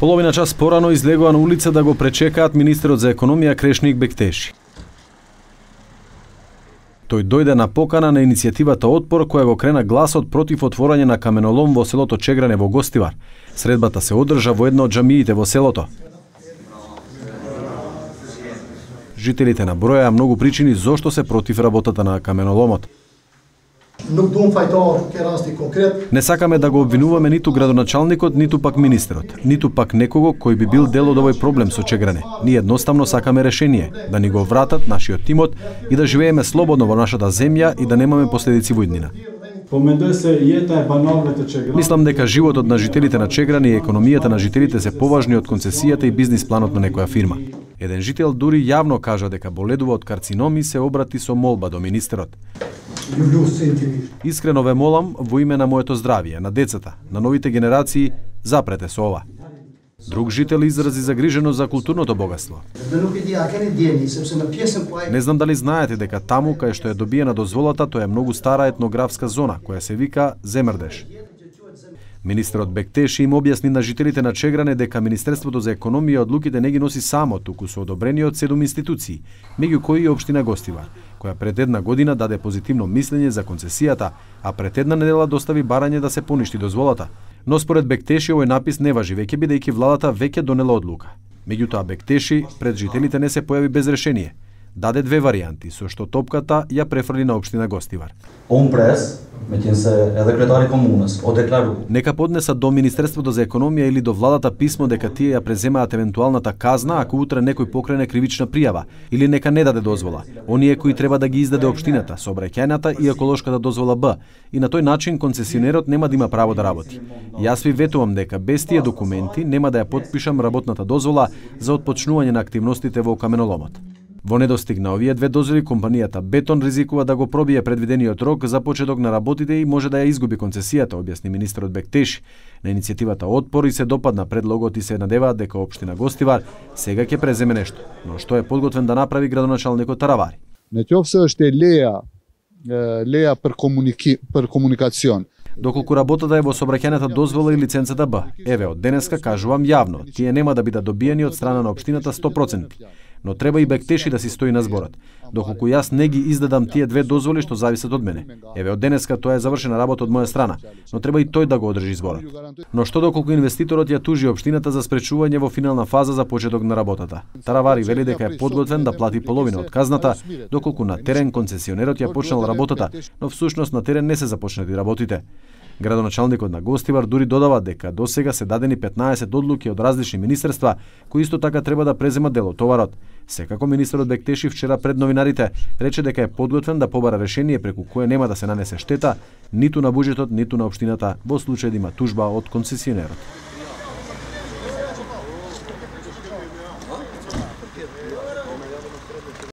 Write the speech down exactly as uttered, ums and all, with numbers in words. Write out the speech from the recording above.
Половина час порано излегува на улица да го пречекаат министерот за економија Крешник Бектеши. Тој дојде на покана на иницијативата Отпор, која го крена гласот против отворање на каменолом во селото Чегране во Гостивар. Средбата се одржа во една од џамиите во селото. Жителите набројаа многу причини зошто се против работата на каменоломот. Не сакаме да го обвинуваме ниту градоначалникот, ниту пак министерот, ниту пак некого кој би бил дел од овој проблем со Чегране. Ние едноставно сакаме решение, да ни го вратат нашиот тимот и да живееме слободно во нашата земја и да немаме последици во иднина. Мислам дека животот на жителите на Чегране и економијата на жителите се поважни од концесијата и бизнис планот на некоја фирма. Еден жител дури јавно кажа дека боледува од карциноми и се обрати со молба до министерот. Искрено ве молам во име на моето здравје, на децата, на новите генерации, запрете со ова. Друг жител изрази загриженост за културното богатство. Не знам дали знаете дека таму кај што е добиена дозволата, тоа е многу стара етнографска зона, која се вика Земрдеш. Министерот Бектеши им објасни на жителите на Чегране дека Министерството за економија одлуките не ги носи само, туку со одобрени од седум институции, меѓу кои и општина Гостивар, која пред една година даде позитивно мислење за концесијата, а пред една недела достави барање да се поништи дозволата. Но според Бектеши овој напис не важи веќе, бидејќи владата веќе донела одлука. Меѓутоа Бектеши пред жителите не се појави без решение. Даде две варијанти, со што топката ја префрли на општина Гостивар. Он прес, меѓутоа edhe кретари комунас, о деклару. Нека поднесат до Министерството за економија или до владата писмо дека тие ја преземаат евентуалната казна ако утре некој покрене кривична пријава, или нека не даде дозвола. Оние кои треба да ги издаде општината, сообраќајната и еколошката дозвола Б, и на тој начин концесионерот нема да има право да работи. Јас ви ветувам дека без тие документи нема да ја потпишам работната дозвола за отпочнување на активностите во каменоломот. Во недостиг на овие две дозволи, компанијата Бетон ризикува да го пробие предвидениот рок за почеток на работите и може да ја изгуби концесијата, објасни министерот Бектеши. На иницијативата Отпор и се допадна предлогот и се надеваат дека општина Гостивар сега ќе преземе нешто, но што е подготвен да направи градоначалникот Таравари. Не ќе се уште леја леја per комуники per комуникацион. Доколку работата е во сообраќајната дозвола и лиценцата Б. Еве, од денеска кажувам јавно, тие нема да бидат добиени од страна на општината сто проценти. Но треба и Бектеши да си стои на зборот. Доколку јас не ги издадам тие две дозволи што зависат од мене. Еве, од денеска тоа е завршена работа од моја страна, но треба и тој да го одржи зборот. Но што доколку инвеститорот ја тужи општината за спречување во финална фаза за почеток на работата? Таравари вели дека е подготвен да плати половина од казната, доколку на терен концесионерот ја почнал работата, но всушност на терен не се започнати работите. Градоначалникот на Гостивар дури додава дека досега се дадени петнаесет одлуки од различни министерства, кои исто така треба да преземат дел од товарот. Секако министерот Бектеши вчера пред новинарите рече дека е подготвен да побара решение преку кое нема да се нанесе штета ниту на буџетот, ниту на општината во случај да има тужба од концесионерот.